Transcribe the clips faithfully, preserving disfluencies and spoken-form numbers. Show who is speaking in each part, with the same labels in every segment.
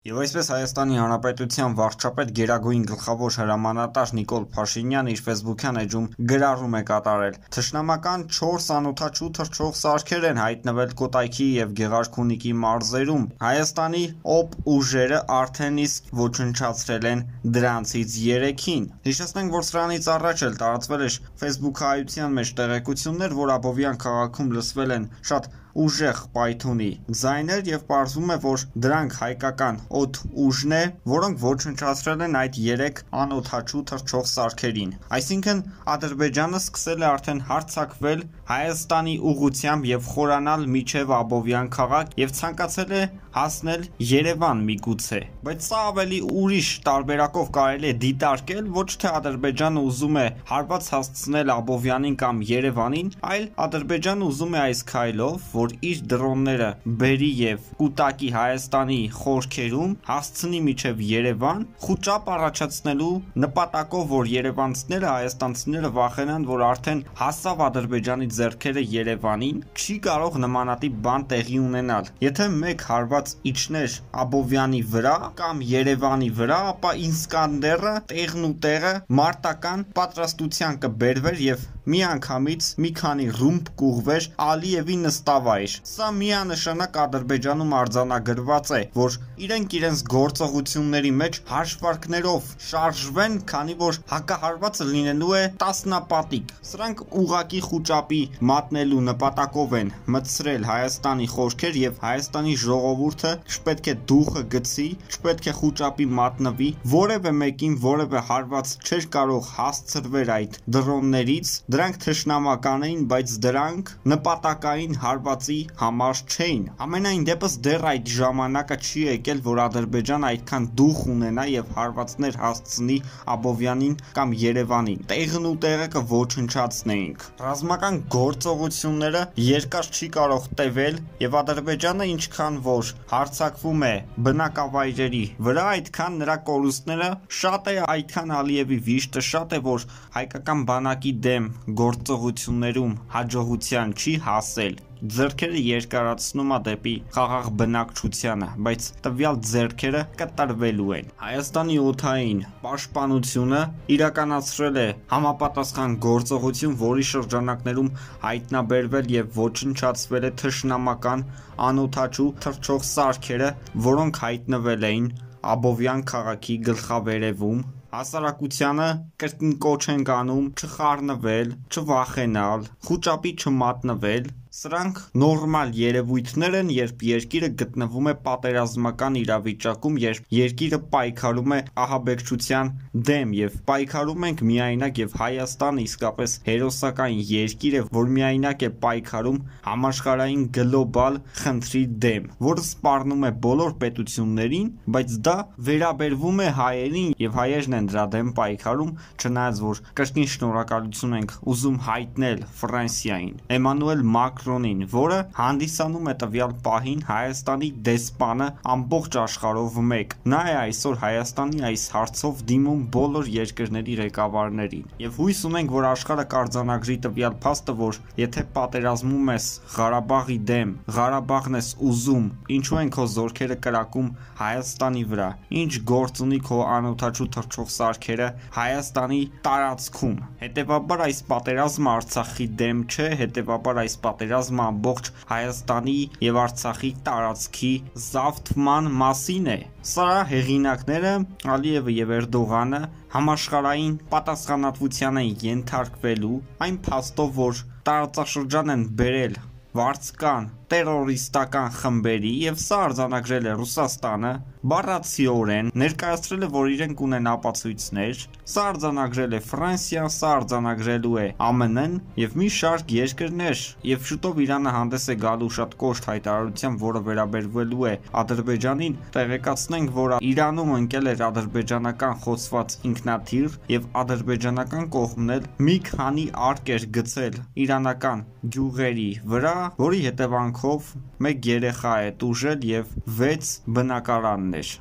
Speaker 1: Եվ այսպես Հայաստանի Հանրապետության վարչապետ Գերագույն գլխավոր հրամանատար Նիկոլ Փաշինյանը իր ֆեյսբուքյան էջում գրառում է կատարել. Թշնամական չորս անօդաչու թռչող սարքեր են հայտնվել Կոտայքի և Գեղարքունիքի մարզերում։ Հայաստանի օպ ուժերը արդեն իսկ ոչնչացրել են դրանցից երեքին։ Հիշեցնենք, որ սրանից առաջ էլ տարածվել էր ֆեյսբուքայության մեջ տեղեկություններ, որ Աբովյան քաղաքում լսվել են շատ ուժեղ պայթունի ձայներ և պարզվում է, որ դրանք հայկական օդ ուժն է, որոնք ոչնչացրել են այդ երեք անօդաչու թռչող սարքերին։ Այսինքն Ադրբեջանը սկսել է արդեն հարձակվել Հայաստանի ուղղությամբ և խորանալ մինչև Աբովյան քաղաք և ցանկացել է հասնել Երևան միգուցե։ Բայց սա ավելի ուրիշ տարբերակով կարելի է դիտարկել, ոչ թե Ադրբեջանը ուզում է հարված հասցնել Աբովյանին կամ Երևանին, այլ Ադրբեջանը ուզում է այս քայլով, որ իր դրոնները բերի և կուտակի Հայաստանի խորքերում, հասցնի մինչև Երևան, խուճապ առաջացնելու նպատակով, որ երևանցիները, հայաստանցիները վախենան, որ արդեն հասավ Ադրբեջանի ձեռքերը Երևանին, չի կարող նմանատիպ բան տեղի ունենալ։ Եթե մեկ հարված իջներ Աբովյանի վրա կամ Երևանի վրա, ապա Իսկանդերը տեղն ու տեղը մարտական պատրաստության կբերվեր և միանգամից մի քանի ռումբ կուղվեր Ալիևի նստավայր։ Սա միանշանակ Ադրբեջանում արձանագրված է, որ իրենք իրենց գործողությունների մեջ հաշվարկներով շարժվեն, քանի որ հակահարվածը լինելու է տասնապատիկ։ Սրանք ուղղակի խուճապի մատնելու նպատակով են մտցրել Հայաստանի խորքեր և Հայաստանի ժողովուրդը չպետք է դուխը գցի, չպետք է խուճապի մատնվի, որևէ մեկին որևէ հարված չէր կարող հասցրվել այդ դրոններից, դրանք թշնամական էին, բայց դրանք նպատակային հարվածի համար չէին։ Համենայն դեպս դեռ այդ ժամանակը չի եկել, որ Ադրբեջանը այդքան դուխ ունենա և հարվածներ հասցնի Աբովյանին կամ Երևանին։ Տեղն ու տեղը կոչնչացնեինք։ Ռազմական գործողությունները երկար չի կարող տևել և Ադրբեջանը ինչքան որ հարձակվում է բնակավայրերի վրա, այդքան նրա կորուստները շատ է, այդքան Ալիևի վիշտը շատ է, որ հայկական բանակի դեմ գործողություններում հաջողության չի հասել։ Ձեռքերը երկարացնում է դեպի խաղաղ բնակչությանը, բայց տվյալ ձեռքերը կտրվելու են։ Հայաստանի օդային պաշտպանությունը իրականացրել է համապատասխան գործողություն, որի շրջանակներում հայտնաբերվել և ոչնչացվել է թշնամական անօդաչու թռչող սարքերը, որոնք հայտնվել էին Աբովյան քաղաքի գլխավերևում։ Հասարակությանը կրկին կոչ ենք անում չխառնվել, չվախենալ, խուճապի չմատնվել։ Սրանք նորմալ երևույթներ են, երբ երկիրը գտնվում է պատերազմական իրավիճակում, երբ երկիրը պայքարում է ահաբեկչության դեմ և պայքարում ենք միայնակ և Հայաստանը իսկապես հերոսական երկիր է, որ միայնակ է պայքարում համաշխարհային գլոբալ խնդրի դեմ, որը սպառնում է բոլոր պետություններին, բայց դա վերաբերվում է հայերին և հայերն են դրա դեմ պայքարում, չնայած որ կրկին շնորհակալություն ենք ուզում հայտնել Ֆրանսիային, Էմանուել Մակրոնին, որը հանդիսանում է տվյալ պահին Հայաստանի դեսպանը ամբողջ աշխարհով մեկ։ Նա է այսօր Հայաստանի այս հարցով դիմում բոլոր երկրների ղեկավարներին։ Եվ հույս ունենք, որ աշխարհը կարձանագրի տվյալ փաստը, որ եթե պատերազմում ես Ղարաբաղի դեմ, Ղարաբաղն ես ուզում, ինչու են քո զորքերը կրակում Հայաստանի վրա, ինչ գործ ունի քո անօդաչու թռչող սարքերը Հայաստանի տարածքում։ Հետևաբար այս պատերազմը Արցախի դեմ չէ, հետևաբար այս պատերազմը ամբողջ Հայաստանի և Արցախի տարածքի զավթման մասին է։ Սա հեղինակները Ալիևը և Էրդողանը համաշխարհային պատասխանատվության են ենթարկվելու այն փաստով, որ տարածաշրջան են բերել վարձկան տերորիստական խմբերի և սա արձանագրել է Ռուսաստանը, բառացիորեն ներկայացրել է, որ իրենք ունեն ապացույցներ, սա արձանագրել է Ֆրանսիան, սա արձանագրելու է ԱՄՆ-ն և մի շարք երկրներ, և շուտով Իրանը հանդես է գալու շատ կոշտ հայտարարությամբ, որը վերաբերվելու է Ադրբեջանին։ Տեղեկացնենք, որ Իրանում ընկել էր ադրբեջանական խոցված ինքնաթիռ և ադրբեջանական կողմն էլ մի քանի արկ էր գցել իրանական գյուղերի վրա, որի հետևանքով մեկ երեխա է տուժել և վեց բնակարաններ։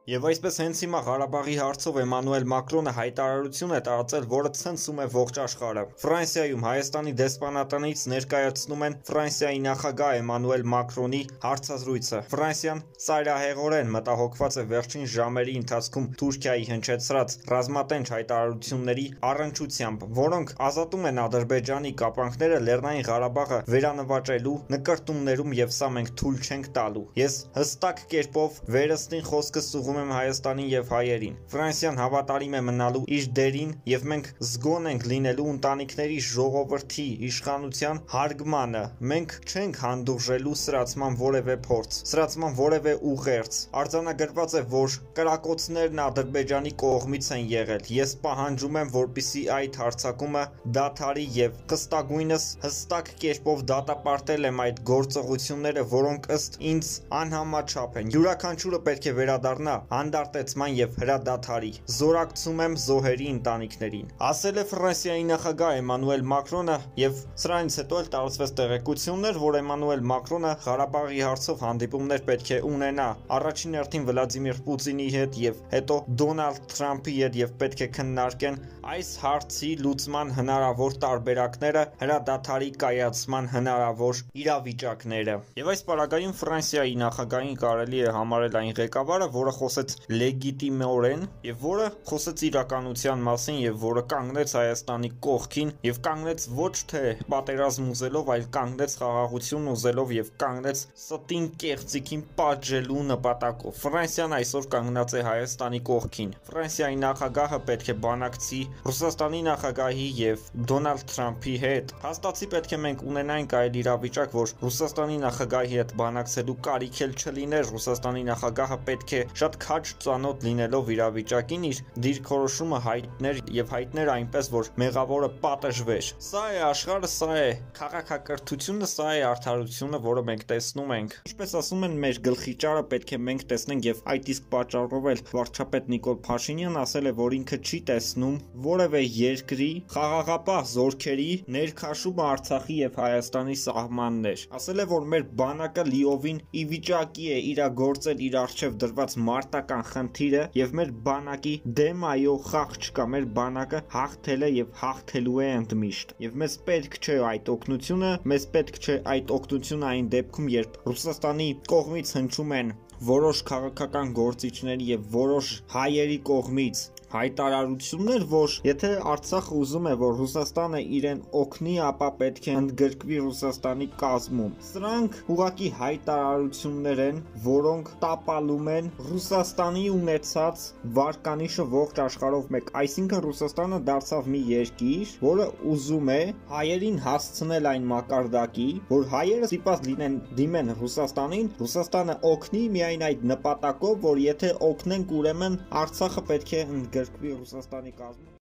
Speaker 1: Եվ այսպես հենց հիմա Ղարաբաղի հարցով Էմանուել Մակրոնը հայտարարություն է տարածել, որը ցնցում է ողջ աշխարհը։ Ֆրանսիայում Հայաստանի դեսպանատնից ներկայացնում են Ֆրանսիայի նախագահ Էմանուել Մակրոնի հարցազրույցը։ Ֆրանսիան ծայրահեղորեն մտահոգված է վերջին ժամերի ընթացքում Թուրքիայի հնչեցրած ռազմատենչ հայտարարությունների առնչությամբ, որոնք ազատում են Ադրբեջանի կապանքները Լեռնային Ղարաբաղը վերանվաճելու նկրտումներում, եւ սա մենք թույլ չենք տալու։ Ես հստակ կերպով վերստին խոսքս ուղղում եմ Հայաստանին եւ հայերին։ Ֆրանսիան հավատարիմ է մնալու իր դերին եւ մենք զգոն ենք լինելու ընտանիքների ժողովրդի իշխանության հարգմանը։ Մենք չենք հանդուրժելու սրացման որևէ փորձ, սրացման որևէ ուղերձ։ Արձանագրված է, որ կրակոցներն Ադրբեջանի կողմից են եղել։ Ես պահանջում եմ, որպեսզի այդ հարձակումը դադարի եւ խստագույնս հստակ կերպով դատապարտել եմ այդ գործողությունները, որոնք ըստ ինձ անհամաչափ են։ Յուրաքանչյուրը պետք է վերադառնա հանդարտեցման եւ հրադադարի։ Զորակցում եմ զոհերի ընտանիքներին, ասել է Ֆրանսիայի նախագահ Էմանուել Մակրոնը, եւ սրանից հետո էլ տարածվեց տեղեկություններ, որ Էմանուել Մակրոնը Ղարաբաղի հարցով հանդիպումներ պետք է ունենա առաջին հերթին Վլադիմիր Պուտինի հետ եւ հետո Դոնալդ Թրամփի հետ եւ պետք է քննարկեն այս հարցի լուծման հնարավոր տարբերակները, հրադադարի կայացման հնարավոր իրավիճակները։ Եվ այս պարագայում Ֆրանսիայի նախագահին կարելի է համարել այն ղեկավարը, որը խոսեց լեգիտիմորեն եւ որը խոսեց իրականության մասին եւ որը կանգնեց Հայաստանի կողքին եւ կանգնեց ոչ թե պատերազմ ուզելով, այլ կանգնեց խաղաղություն ուզելով եւ կանգնեց ստին կեղծիքին պատժելու նպատակով։ Ֆրանսիան այսօր կանգնած է Հայաստանի կողքին։ Ֆրանսիայի նախագահը պետք է բանակցի Ռուսաստանի նախագահի եւ Դոնալդ Թրամփի հետ։ Հաստատի պետք է մենք ունենանք այլ իրավիճակ, որ Ռուսաստանի նախագահի հետ բանակցելու կարիք էլ չլիներ։ Ռուսաստանի նախագահը պետք է շատ քաջ ծանոթ լինելով իրավիճակին իր դիրքորոշումը հայտներ եւ հայտներ այնպես, որ մեղավորը պատժվեր։ Սա է աշխարհը, սա է քաղաքակրթությունը, սա է արդարությունը, որը մենք տեսնում ենք։ Ինչպես ասում են, մեր գլխի ճարը պետք է մենք տեսնենք եւ այդ իսկ պատճառով էլ վարչապետ Նիկոլ Փաշինյանն ասել է, որ ինքը չի տեսնում որևէ երկրի խաղաղապահ զորքերի ներքաշումը Արցախի եւ Հայաստանի սահմաններ։ Ասել է, որ մեր բանակը լիովին ի վիճակի է իրագործել իր արժեվ դրված մարտական խնդիրը եւ մեր բանակի դեմ այո խաղ չկա, մեր բանակը հաղթել է եւ հաղթելու է ընդմիշտ։ Եվ մեզ պետք չէ այդ օգնությունը, մեզ պետք չէ այդ օգնությունը այն դեպքում, երբ Ռուսաստանի կողմից հնչում են որոշ քաղաքական գործիչների եւ որոշ հայերի կողմից հայտարարություններ, որ եթե Արցախը ուզում է, որ Ռուսաստանը իրեն օգնի, ապա պետք է ընդգրկվի Ռուսաստանի կազմում։ Սրանք ուղղակի հայտարարություններ են, որոնք տապալում են Ռուսաստանի ունեցած վարկանիշը ողջ աշխարհով մեկ։ Այսինքն Ռուսաստանը դարձավ մի երկիր, որը ուզում է հայերին հասցնել այն մակարդակի, որ հայերը ստիպված լինեն դիմեն Ռուսաստանին, Ռուսաստանը օգնի միայն այդ նպատակով, որ եթե օգնենք, ուրեմն Արցախը պետք է ընդգրկվի Ռուսաստանի կազմում։